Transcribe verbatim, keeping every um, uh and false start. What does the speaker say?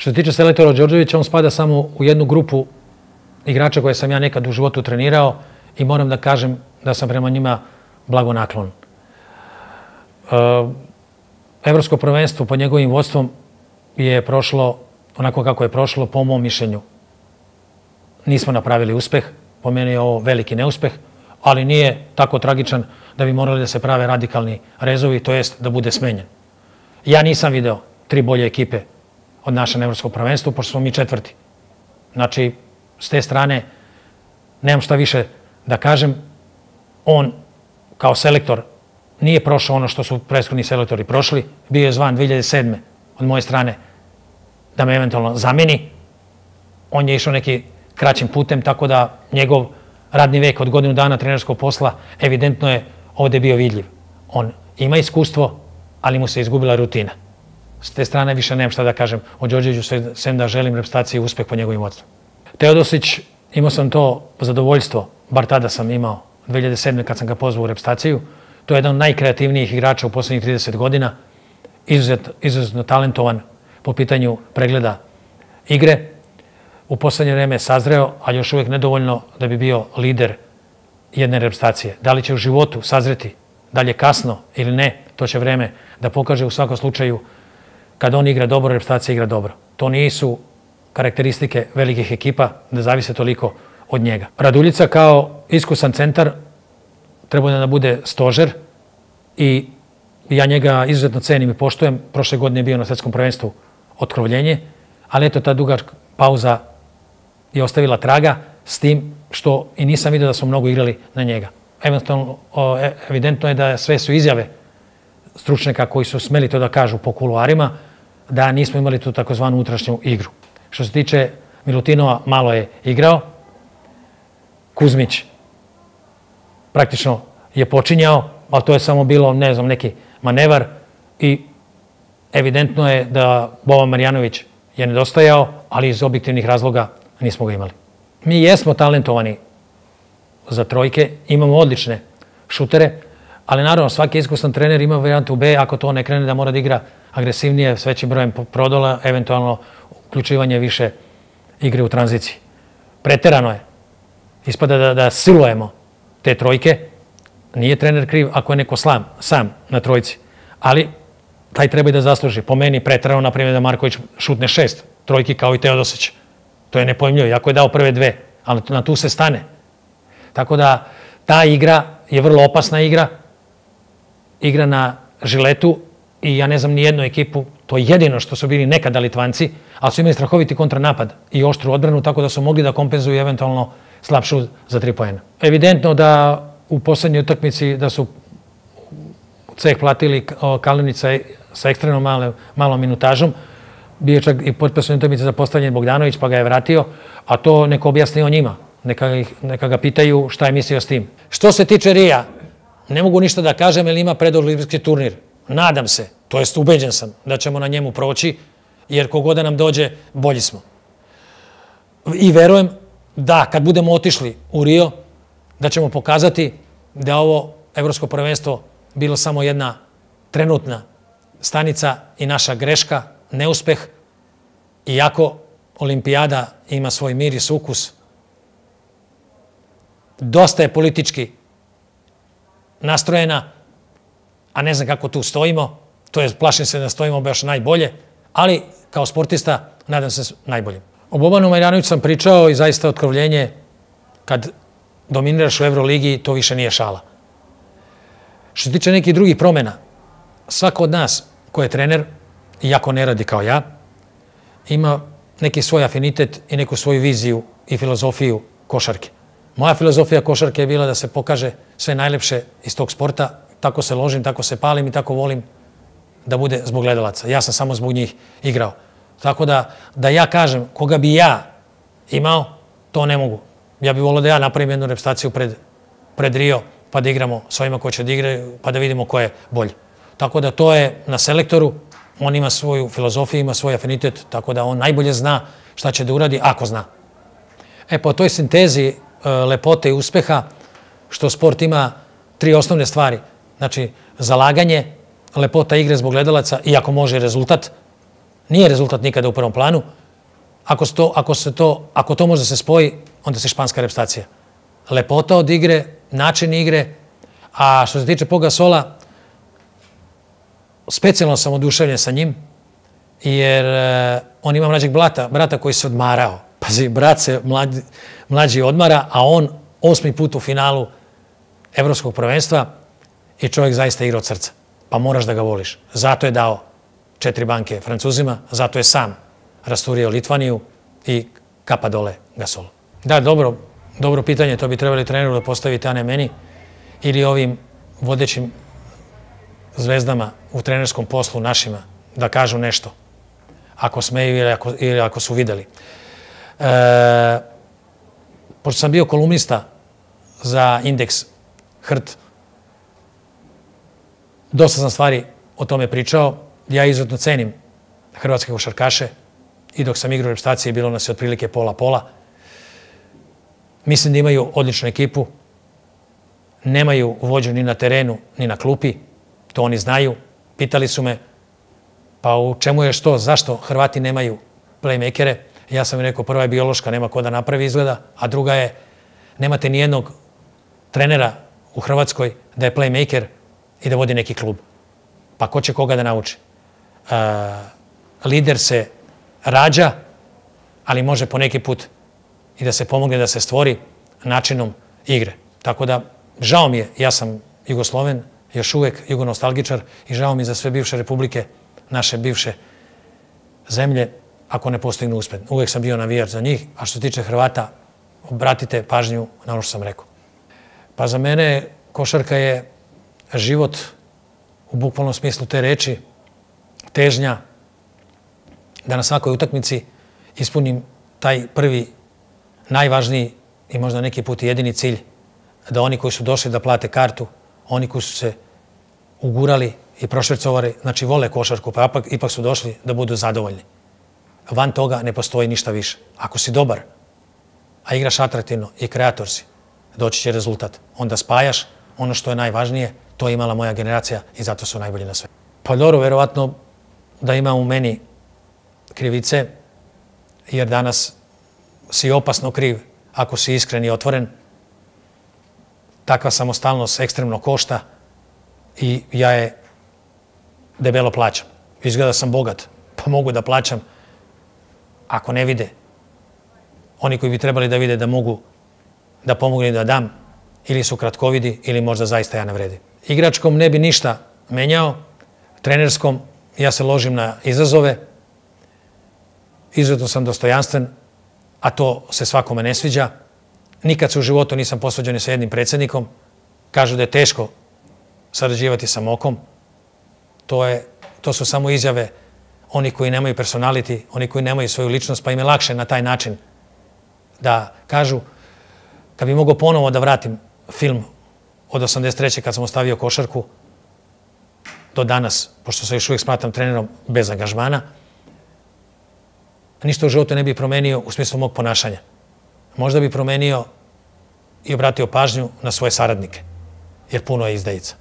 Što se tiče selektora Đorđevića, on spada samo u jednu grupu igrača koje sam ja nekad u životu trenirao i moram da kažem da sam prema njima blagonaklon. Evropsko prvenstvo pod njegovim vodstvom je prošlo onako kako je prošlo, po mom mišljenju. Nismo napravili uspeh, po meni je ovo veliki neuspeh, ali nije tako tragičan da bi morali da se prave radikalni rezovi, to jest da bude smenjen. Ja nisam video tri bolje ekipe od naše na Evropskom prvenstvu, pošto smo mi četvrti. Znači, s te strane, nemam šta više da kažem. On, kao selektor, nije prošao ono što su prethodni selektori prošli. Bio je zvan dve hiljade sedme od moje strane da me eventualno zameni. On je išao neki kraćim putem, tako da njegov radni vek od godinu dana trenerskog posla evidentno je ovde bio vidljiv. On ima iskustvo, ali mu se izgubila rutina. S te strane više nemam šta da kažem o Đorđeviću, sem da želim reprezentaciji uspeh po njegovim vodstvom. Teodosić, imao sam to zadovoljstvo, bar tada sam imao, dve hiljade sedme kad sam ga pozvao u reprezentaciju. To je jedan od najkreativnijih igrača u poslednjih trideset godina, izuzetno talentovan po pitanju pregleda igre. U poslednje vreme je sazreo, ali još uvijek nedovoljno da bi bio lider jedne reprezentacije. Da li će u životu sazreti, da li je kasno ili ne, to će vreme da pokaže. U svakom slučaju, kad on igra dobro, reprezentacija igra dobro. To nisu karakteristike velikih ekipa da zavise toliko od njega. Raduljica kao iskusan centar treba da bude stožer i ja njega izuzetno cenim i poštujem. Prošle godine je bio na svetskom prvenstvu otkrovljenje, ali eto, ta duga pauza je ostavila traga, s tim što i nisam vidio da smo mnogo igrali na njega. Evidentno je da sve su izjave stručnjaka koji su smeli to da kažu po kuluarima, da nismo imali tu takozvanu unutrašnju igru. Što se tiče Milutinova, malo je igrao. Kuzmić praktično je počinjao, ali to je samo bilo, ne znam, neki manevar i evidentno je da Boban Marjanović je nedostajao, ali iz objektivnih razloga nismo ga imali. Mi jesmo talentovani za trojke, imamo odlične šutere, ali naravno svaki iskusan trener ima varijantu B, ako to ne krene da mora da igra agresivnije, s većim brojem prodola, eventualno uključivanje više igre u tranziciji. Preterano je. Ispada da silujemo te trojke. Nije trener kriv ako je neko sam na trojci, ali taj treba i da zasluži. Po meni preterano, na primjer, da Marković šutne šest trojki kao i Teodosić. To je nepojmljivo, jako je dao prve dve, ali na tu se stane. Tako da ta igra je vrlo opasna igra, igra na žiletu i ja ne znam ni jednu ekipu, to je jedino što su bili nekada Litvanci, ali su imali strahoviti kontranapad i oštru odbranu, tako da su mogli da kompenzuju eventualno slab šut za tri poena. Evidentno da u poslednjoj utakmici da su ceh platili Kalinića sa ekstremno malom minutažom. Bio je čak i potpisana utakmica za postavljanje Bogdanović, pa ga je vratio, a to neko objasni o njima. Neka ga pitaju šta je mislio s tim. Što se tiče Rija, ne mogu ništa da kažem jer ima predolimpijski turnir. Nadam se, to jest ubeđen sam, da ćemo na njemu proći, jer kogod da nam dođe, bolji smo. I verujem da kad budemo otišli u Rio, da ćemo pokazati da ovo evropsko prvenstvo bilo samo jedna trenutna stanica i naša greška, neuspeh, iako olimpijada ima svoj miris, ukus. Dosta je politički nastrojena, a ne znam kako tu stojimo, to je, plašim se da stojimo baš najbolje, ali kao sportista nadam se najboljim. O Bobanu Marjanoviću sam pričao i zaista otkrovljenje, kad dominiraš u Euroligi, to više nije šala. Što se tiče nekih drugih promjena, svako od nas ko je trener, iako ne radi kao ja, ima neki svoj afinitet i neku svoju viziju i filozofiju košarke. Moja filozofija košarke je bila da se pokaže sve najlepše iz tog sporta, tako se ložim, tako se palim i tako volim da bude zbog gledalaca. Ja sam samo zbog njih igrao. Tako da, da ja kažem koga bi ja imao, to ne mogu. Ja bih volio da ja napravim jednu reprezentaciju pred, pred Rio, pa da igramo s ovima koji će da igraju, pa da vidimo ko je bolji. Tako da to je na selektoru, on ima svoju filozofiju, ima svoj afinitet, tako da on najbolje zna šta će da uradi, ako zna. E, po toj sintezi lepote i uspeha, što sport ima tri osnovne stvari. Znači, zalaganje, lepota igre zbog gledalaca, iako može rezultat, Nije rezultat nikada u prvom planu. Ako, to, ako, se to, ako to može se spoji, onda se španska repstacija. Lepota od igre, način igre, a što se tiče Pau Gasola, specijalno sam oduševljen sa njim, jer uh, on ima mlađeg brata, brata koji se odmarao. Pazi, brat se mlađi, mlađi odmara, a on osmi put u finalu Evropskog prvenstva i čovjek zaista igra od srca. Pa moraš da ga voliš. Zato je dao četiri banke Francuzima, zato je sam rasturio Litvaniju i kapa dole Gasolu. Da, dobro, dobro pitanje, to bi trebali treneru da postavite, a ne meni, ili ovim vodećim zvezdama u trenerskom poslu našima da kažu nešto, ako smeju ili ako, ili ako su videli. E, pošto sam bio kolumnista za Indeks H R T, dosta sam stvari o tome pričao. Ja izuzetno cenim hrvatske košarkaše i dok sam igrao u repstaciji bilo nas je otprilike pola-pola. Mislim da imaju odličnu ekipu, nemaju vođu ni na terenu, ni na klupi, to oni znaju. Pitali su me, pa u čemu je što, zašto Hrvati nemaju playmakere? Ja sam im rekao, prva je biološka, nema ko da napravi izgleda, a druga je, nemate ni jednog trenera u Hrvatskoj da je playmaker i da vodi neki klub. Pa ko će koga da nauči? Uh, lider se rađa, ali može po neki put i da se pomogne da se stvori načinom igre. Tako da, žao mi je, ja sam Jugosloven, još uvek jugonostalgičar i žao mi za sve bivše republike, naše bivše zemlje, ako ne postignu uspeh. Uvek sam bio navijač za njih, a što se tiče Hrvata, obratite pažnju na ono što sam rekao. Pa za mene košarka je život u bukvalnom smislu te reči, težnja da na svakoj utakmici ispunim taj prvi, najvažniji i možda neki put i jedini cilj, da oni koji su došli da plate kartu, oni koji su se ugurali i prošvercovali, znači vole košarku, pa ipak, ipak su došli da budu zadovoljni. Van toga ne postoji ništa više. Ako si dobar, a igraš atraktivno i kreator si, doći će rezultat. Onda spajaš ono što je najvažnije, to je imala moja generacija i zato su najbolji na sve. Pa dobro, verovatno da ima u meni krivice, jer danas si opasno kriv ako si iskren i otvoren. Takva samostalnost ekstremno košta i ja je debelo plaćam. Izgleda sam bogat, pa mogu da plaćam ako ne vide. Oni koji bi trebali da vide da mogu da pomogu i da dam, ili su kratkovidi, ili možda zaista ja ne vredim. Igračkom ne bi ništa menjao, trenerskom ja se ložim na izazove, izuzetno sam dostojanstven, a to se svakome ne sviđa. Nikad se u životu nisam posvađao ni sa jednim predsjednikom. Kažu da je teško sarađivati sa Mokom. To, je, to su samo izjave oni koji nemaju personality, oni koji nemaju svoju ličnost, pa im je lakše na taj način da kažu. Kad bi mogao ponovo da vratim film od osamdeset treće kad sam ostavio košarku do danas, pošto se još uvijek smatram trenerom bez angažmana, ništa u životu ne bi promenio u smislu mog ponašanja. Možda bi promenio i obratio pažnju na svoje saradnike, jer puno je izdajica.